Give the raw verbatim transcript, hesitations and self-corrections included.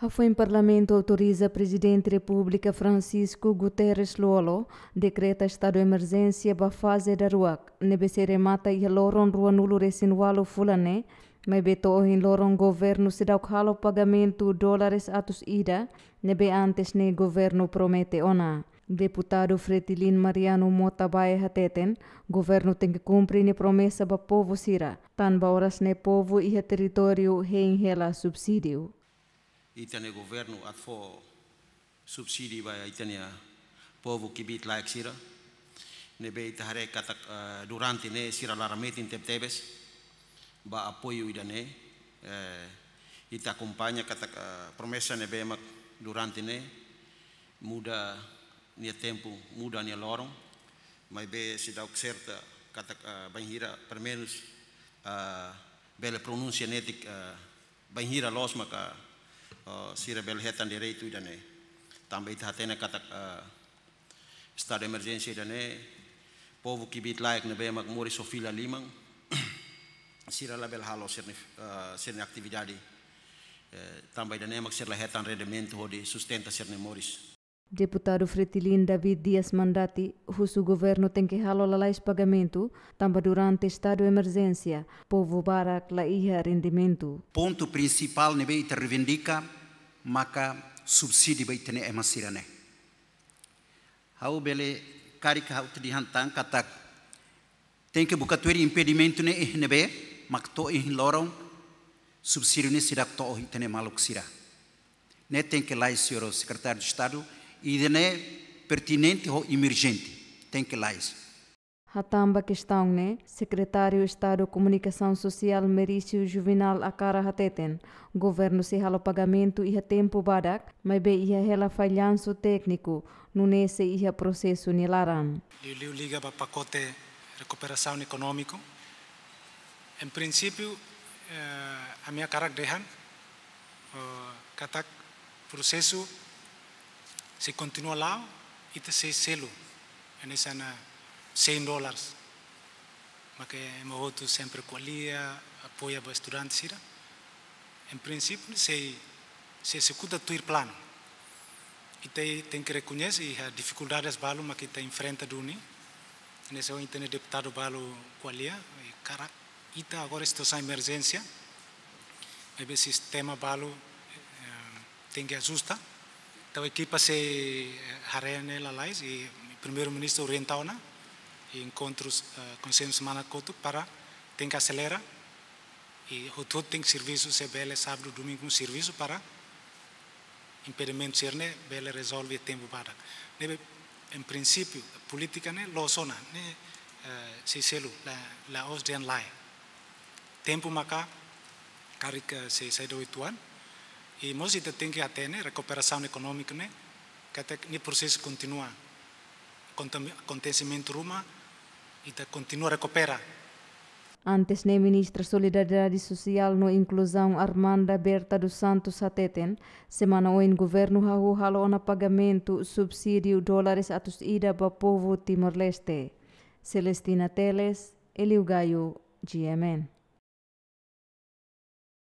Hafoin Parlamentu autoriza Prezidente Repúblika Francisco Guterres Lú-Olo dekreta estadu emerjénsia ba faze daruak, ne'ebé sei remata iha loron ruanulu resin ualu fulan ne'e, maibé to'o ohin loron governu seidauk halo pagamentu dólares atus ida, ne'ebé antes ne'e governu promete ona. Deputadu Fretilin Mariano Mota Bae hateten, governu tenke kumpre nia promesa ba povu sira, tanba oras ne'e povu iha territóriu hein hela subsídiu. Ita-nia governu atu fó subsídiu ba ita-nia povu kbiit-laek sira. Ne'ebé ita haree katak, eh, durante ne'e sira laran metin tebetebes ba apoiu ida-ne'e. Eh, ita akompaña katak, eh, promesa ne'ebé mak durante ne'e muda nia tempu, muda nia loron, maibé seidauk serta katak, eh, bainhira, pelumenus, eh, bele pronunsia netik, eh, bainhira loos maka, eh, sira bele hetan direitu ida-ne'e. Tanba ita hatene katak, eh, estadu emerjénsia ida-ne'e, povu kbiit-laek ne'ebé mak moris ho fila liman, sira labele halo sira-nia, eh, sira-nia atividade, eh, tanba ida-ne'e mak sira la hetan rendimentu hodi sustenta sira-nia moris. Deputadu Fretilin David Dias Mandati husu governu tenke halo lalais pagamentu, tanba durante estadu emerjénsia, povu barak la iha rendimentu. Pontu prinsipál ne'ebé ita reivindika maka subsídiu ba ita-nia ema sira-ne'e. Ha'u bele karik ha'u atu dehan tan katak tenke buka tuir impedimentu ne'e iha ne'ebé mak to'o ohin loron subsídiu ne'e seidauk to'o ita-nia maluk sira. Ne'e tenke lalais, señór Sekretáriu de Estadu, ida-ne'e pertinente ho emerjente. Tenke lalais. Hatán ba kestaun ne'e, Sekretáriu Estadu Komunikasaun Sosiál Merício Juvinal Acara hateten, governu sei halo pagamentu iha tempu badak, maibé iha hela fallansu tékniku, nune'e sei iha prosesu nia laran. Liuliu liga ba pakote rekuperasaun ekonómiku. En prinsípiu, eh, ami hakarak dehan, eh, katak prosesu sei kontinua la'o, ita sei selu hanesan cem dólares. Maka ema hotu sempre ko'alia, apoia ba estudante sira. En prinsípiu, sei, sei ezekuta tuir planu. Ita tenke rekoñese iha difikuldades balu maka ita enfrenta duni. Hanesan ohin ita-nia deputadu balu ko'alia, i karik ita agora situasaun emerjénsia, maibé sistema balu, eh, tenke ajusta. Entaun ekipa sei, eh, haree ne'e lalais, i Primeiru-Ministru orienta ona, i enkontrus, eh, konsellu semana kotuk para tenke aselera, i hotu-hotu tenke servisu, se bele sábadu, domingu servisu para impedimentu sira-ne'e bele rezolve tempu badak. Ne'ebé, en prinsípiu, polítika ne'e loos ona, ne'e, eh, sei selu, la, la'ós dehan lae. Tempu maka karik, eh, sei saida oituan. I mós ita tenke hatene rekuperasaun ekonómiku ne'e, katak nia prosesu kontinua. Akonte-, akontesimentu ruma, ita kontinua rekupera. Antes ne'e, Ministra Solidariedade Sosiál no Inkluzaun Armanda Berta dos Santos hateten, semana oin governu hahú halo ona pagamentu subsídiu dólares atus ida ba povu Timor-Leste. Celestina Teles, Elio Gaio, G M N.